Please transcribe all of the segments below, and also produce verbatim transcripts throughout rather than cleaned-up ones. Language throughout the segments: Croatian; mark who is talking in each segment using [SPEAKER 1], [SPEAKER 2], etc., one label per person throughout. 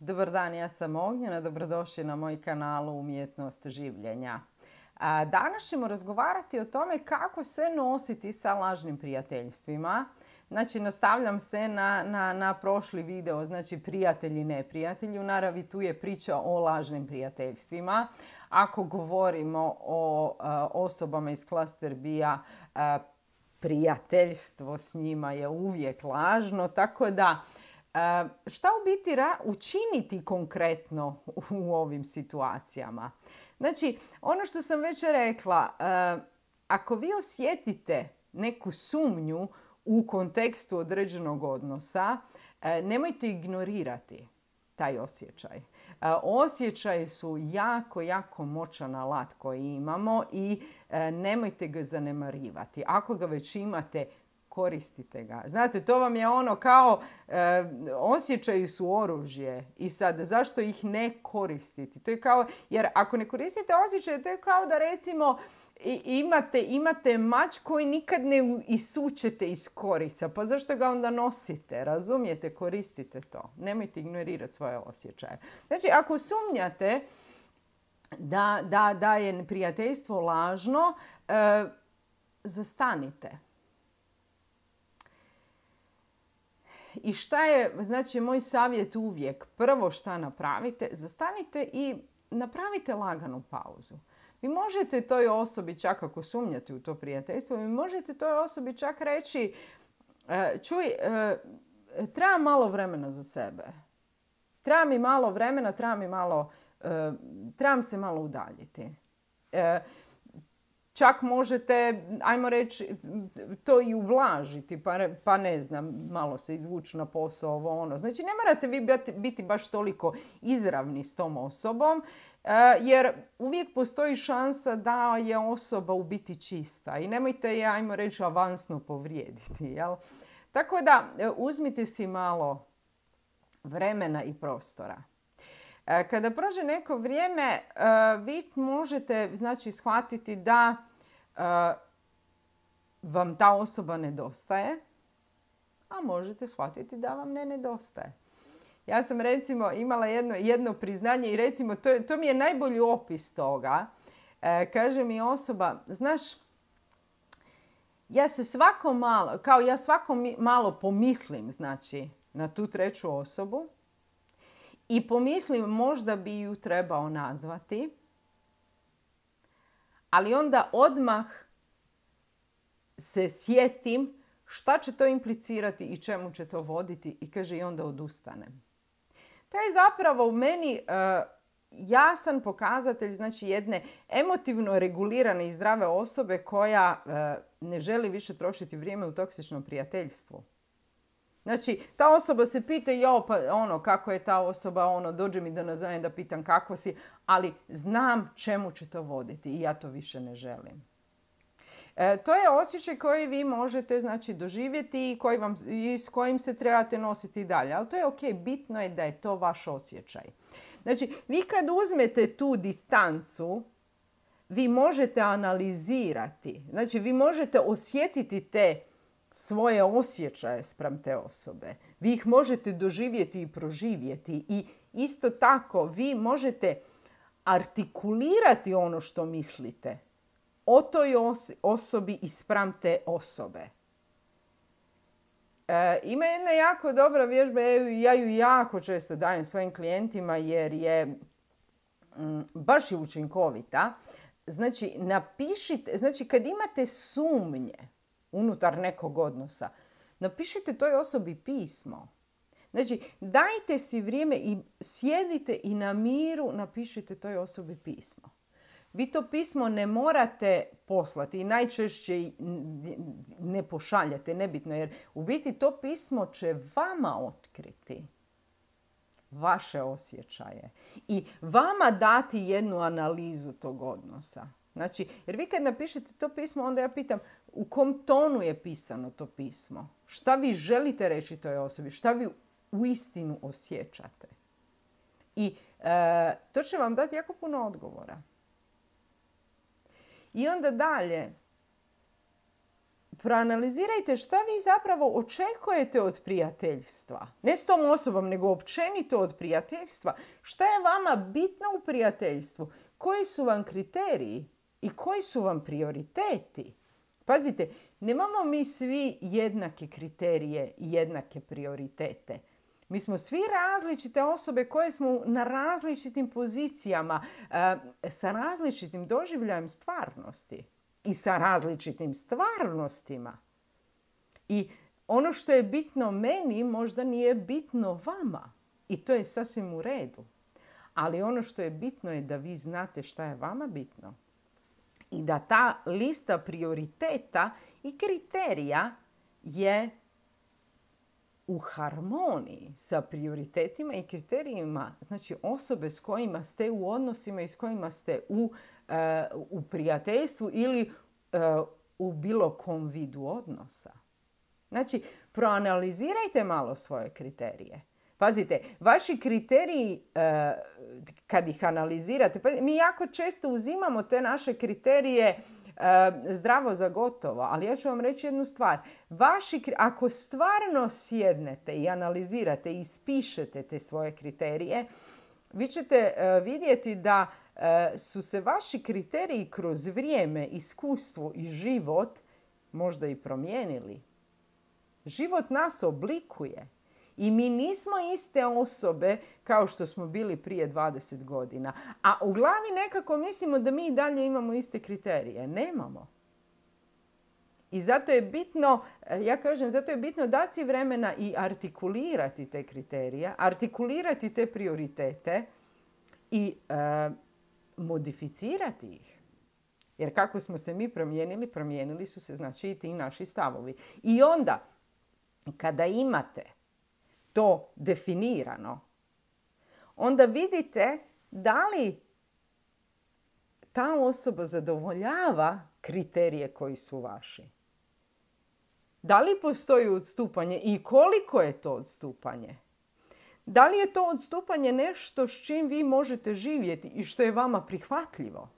[SPEAKER 1] Dobar dan, ja sam Ognjena, dobrodošli na moj kanal Umjetnost življenja. Danas ćemo razgovarati o tome kako se nositi sa lažnim prijateljstvima. Znači, nastavljam se na, na, na prošli video, znači prijatelji, neprijatelji. U naravi tu je priča o lažnim prijateljstvima. Ako govorimo o a, osobama iz Cluster B-a, prijateljstvo s njima je uvijek lažno, tako da šta u biti učiniti konkretno u ovim situacijama? Znači, ono što sam već rekla, ako vi osjetite neku sumnju u kontekstu određenog odnosa, nemojte ignorirati taj osjećaj. Osjećaji su jako, jako moćan alat koji imamo i nemojte ga zanemarivati. Ako ga već imate, koristite ga. Znate, to vam je ono kao e, osjećaji su oružje i sad zašto ih ne koristiti? To je kao, jer ako ne koristite osjećaje, to je kao da recimo imate, imate mač koji nikad ne isučete iz korica. Pa zašto ga onda nosite? Razumijete? Koristite to. Nemojte ignorirati svoje osjećaje. Znači, ako sumnjate da, da, da je prijateljstvo lažno, e, zastanite. I šta je, znači, moj savjet uvijek? Prvo šta napravite, zastanite i napravite laganu pauzu. Vi možete toj osobi, čak ako sumnjate u to prijateljstvo, vi možete toj osobi čak reći, čuj, treba malo vremena za sebe. Treba mi malo vremena, treba mi malo, trebam se malo udaljiti. Čak možete, ajmo reći, to i ublažiti, pa, pa ne znam, malo se izvući na posao, ovo ono. Znači, ne morate vi biti baš toliko izravni s tom osobom, jer uvijek postoji šansa da je osoba u biti čista i nemojte je, ajmo reći, avansno povrijediti. Jel? Tako da, uzmite si malo vremena i prostora. Kada prođe neko vrijeme, vi možete, znači, shvatiti da vam ta osoba nedostaje, a možete shvatiti da vam ne nedostaje. Ja sam recimo imala jedno, jedno priznanje i recimo to, to mi je najbolji opis toga. Kaže mi osoba, znaš, ja se svako malo, kao ja svako malo pomislim, znači, na tu treću osobu, i pomislim možda bi ju trebao nazvati, ali onda odmah se sjetim šta će to implicirati i čemu će to voditi i kaže i onda odustanem. To je zapravo u meni uh, jasan pokazatelj, znači, jedne emotivno regulirane i zdrave osobe koja uh, ne želi više trošiti vrijeme u toksičnom prijateljstvu. Znači, ta osoba se pita, jo, pa ono, kako je ta osoba, ono, dođe mi da nazovem da pitam kako si, ali znam čemu će to voditi i ja to više ne želim. E, to je osjećaj koji vi možete, znači, doživjeti i, koji vam, i s kojim se trebate nositi dalje. Ali to je ok, bitno je da je to vaš osjećaj. Znači, vi kad uzmete tu distancu, vi možete analizirati, znači, vi možete osjetiti te svoje osjećaje spram te osobe. Vi ih možete doživjeti i proživjeti i isto tako vi možete artikulirati ono što mislite o toj os- osobi i spram te osobe. E, ima jedna jako dobra vježba, ja ju jako često dajem svojim klijentima jer je mm, baš je učinkovita. Znači, napišite, znači kad imate sumnje unutar nekog odnosa, napišite toj osobi pismo. Znači, dajte si vrijeme i sjedite i na miru napišite toj osobi pismo. Vi to pismo ne morate poslati i najčešće ne pošaljete, nebitno, jer u biti to pismo će vama otkriti vaše osjećaje i vama dati jednu analizu tog odnosa. Znači, jer vi kad napišete to pismo, onda ja pitam u kom tonu je pisano to pismo? Šta vi želite reći toj osobi? Šta vi uistinu osjećate? I e, to će vam dati jako puno odgovora. I onda dalje, proanalizirajte šta vi zapravo očekujete od prijateljstva. Ne s tom osobom, nego općenito od prijateljstva. Šta je vama bitno u prijateljstvu? Koji su vam kriteriji i koji su vam prioriteti? Pazite, nemamo mi svi jednake kriterije i jednake prioritete. Mi smo svi različite osobe koje smo na različitim pozicijama, sa različitim doživljajem stvarnosti i sa različitim stvarnostima. I ono što je bitno meni možda nije bitno vama. I to je sasvim u redu. Ali ono što je bitno je da vi znate šta je vama bitno. I da ta lista prioriteta i kriterija je u harmoniji sa prioritetima i kriterijima, znači osobe s kojima ste u odnosima i s kojima ste u, uh, u prijateljstvu ili uh, u bilo kom vidu odnosa. Znači, proanalizirajte malo svoje kriterije. Pazite, vaši kriteriji, uh, kad ih analizirate, pa mi jako često uzimamo te naše kriterije zdravo za gotovo, ali ja ću vam reći jednu stvar. Vaši, ako stvarno sjednete i analizirate i ispišete te svoje kriterije, vi ćete vidjeti da su se vaši kriteriji kroz vrijeme, iskustvo i život možda i promijenili. Život nas oblikuje. I mi nismo iste osobe kao što smo bili prije dvadeset godina. A u glavi nekako mislimo da mi i dalje imamo iste kriterije. Nemamo. I zato je bitno, ja kažem, zato je bitno dati si vremena i artikulirati te kriterije, artikulirati te prioritete i e, modificirati ih. Jer kako smo se mi promijenili, promijenili su se znači i ti naši stavovi. I onda, kada imate to definirano, onda vidite da li ta osoba zadovoljava kriterije koji su vaši. Da li postoji odstupanje i koliko je to odstupanje? Da li je to odstupanje nešto s čim vi možete živjeti i što je vama prihvatljivo?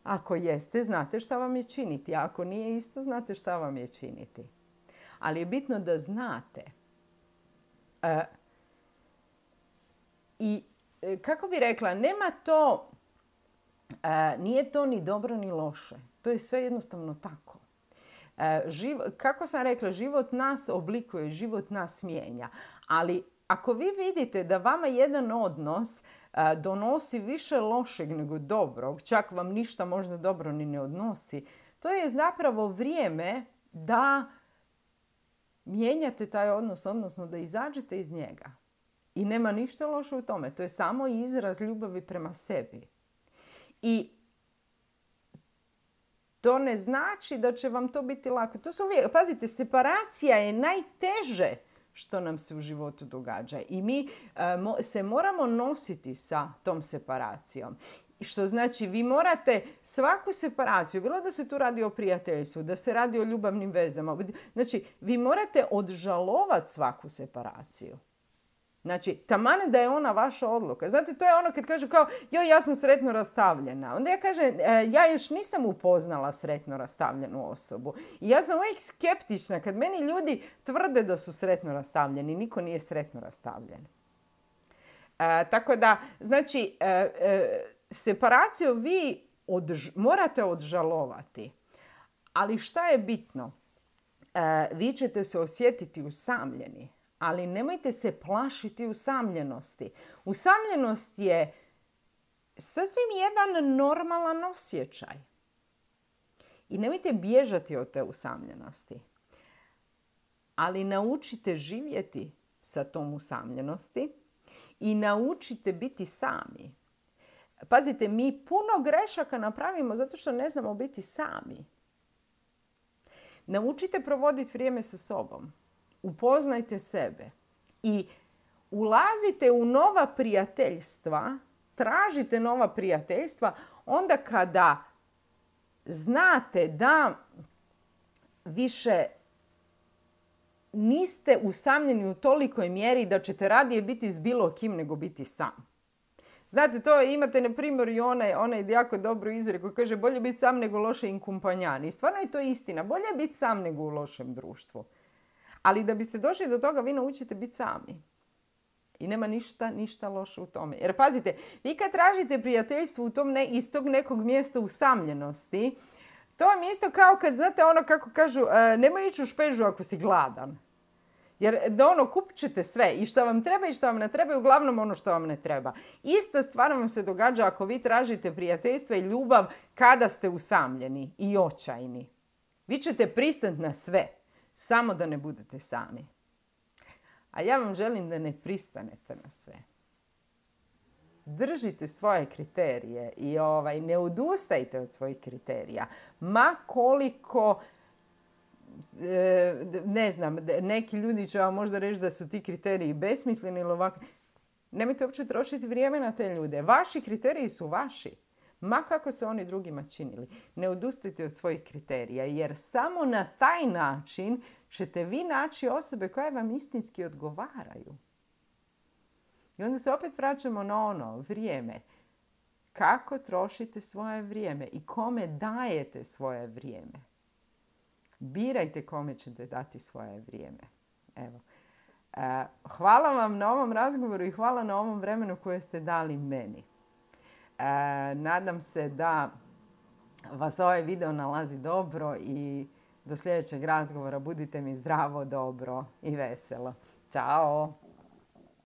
[SPEAKER 1] Ako jeste, znate šta vam je činiti. A ako nije isto, znate šta vam je činiti. Ali je bitno da znate. E, I kako bi rekla, nema to, e, nije to ni dobro ni loše. To je sve jednostavno tako. E, živ, kako sam rekla, život nas oblikuje, život nas mijenja. Ali ako vi vidite da vama jedan odnos e, donosi više lošeg nego dobrog, čak vam ništa možda dobro ni ne odnosi, to je zapravo vrijeme da mijenjate taj odnos, odnosno da izađete iz njega. I nema ništa loše u tome. To je samo izraz ljubavi prema sebi. I to ne znači da će vam to biti lako. To su uvijek, pazite, separacija je najteže što nam se u životu događa. I mi uh, se moramo nositi sa tom separacijom. Što znači, vi morate svaku separaciju, bilo da se tu radi o prijateljstvu, da se radi o ljubavnim vezama, znači, vi morate odžalovati svaku separaciju. Znači, taman da je ona vaša odluka. Znate, to je ono kad kažu kao, joj, ja sam sretno rastavljena. Onda ja kažem, ja još nisam upoznala sretno rastavljenu osobu. I ja sam uvijek skeptična kad meni ljudi tvrde da su sretno rastavljeni. Niko nije sretno rastavljen. E, tako da, znači, e, e, separaciju vi odž- morate odžalovati. Ali šta je bitno? E, vi ćete se osjetiti usamljeni. Ali nemojte se plašiti usamljenosti. Usamljenost je sasvim jedan normalan osjećaj. I nemojte bježati od te usamljenosti. Ali naučite živjeti sa tom usamljenosti i naučite biti sami. Pazite, mi puno grešaka napravimo zato što ne znamo biti sami. Naučite provoditi vrijeme sa sobom. Upoznajte sebe i ulazite u nova prijateljstva, tražite nova prijateljstva onda kada znate da više niste usamljeni u tolikoj mjeri da ćete radije biti s bilo kim nego biti sam. Znate, to imate, na primjer, i onaj, onaj jako dobro izreku koji kaže bolje biti sam nego loše inkumpanjan. I stvarno je to istina. Bolje je biti sam nego u lošem društvu. Ali da biste došli do toga, vi naučite biti sami. I nema ništa, ništa loše u tome. Jer pazite, vi kad tražite prijateljstvo u tom ne, iz tog nekog mjesta usamljenosti, to vam je isto kao kad, znate, ono kako kažu, nemoj ići u špežu ako si gladan. Jer da ono, kupit ćete sve, i što vam treba i što vam ne treba, i uglavnom ono što vam ne treba. Ista stvar vam se događa ako vi tražite prijateljstvo i ljubav kada ste usamljeni i očajni. Vi ćete pristati na sve, samo da ne budete sami. A ja vam želim da ne pristanete na sve. Držite svoje kriterije i ovaj, ne odustajte od svojih kriterija. Ma koliko, ne znam, neki ljudi će vam možda reći da su ti kriteriji besmisleni ili ovakvi. Nemojte uopće trošiti vrijeme na te ljude. Vaši kriteriji su vaši. Ma kako se oni drugima činili. Ne odustajte od svojih kriterija, jer samo na taj način ćete vi naći osobe koje vam istinski odgovaraju. I onda se opet vraćamo na ono vrijeme. Kako trošite svoje vrijeme i kome dajete svoje vrijeme. Birajte kome ćete dati svoje vrijeme. Evo. E, hvala vam na ovom razgovoru i hvala na ovom vremenu koje ste dali meni. E, nadam se da vas ovaj video nalazi dobro i do sljedećeg razgovora budite mi zdravo, dobro i veselo. Ćao!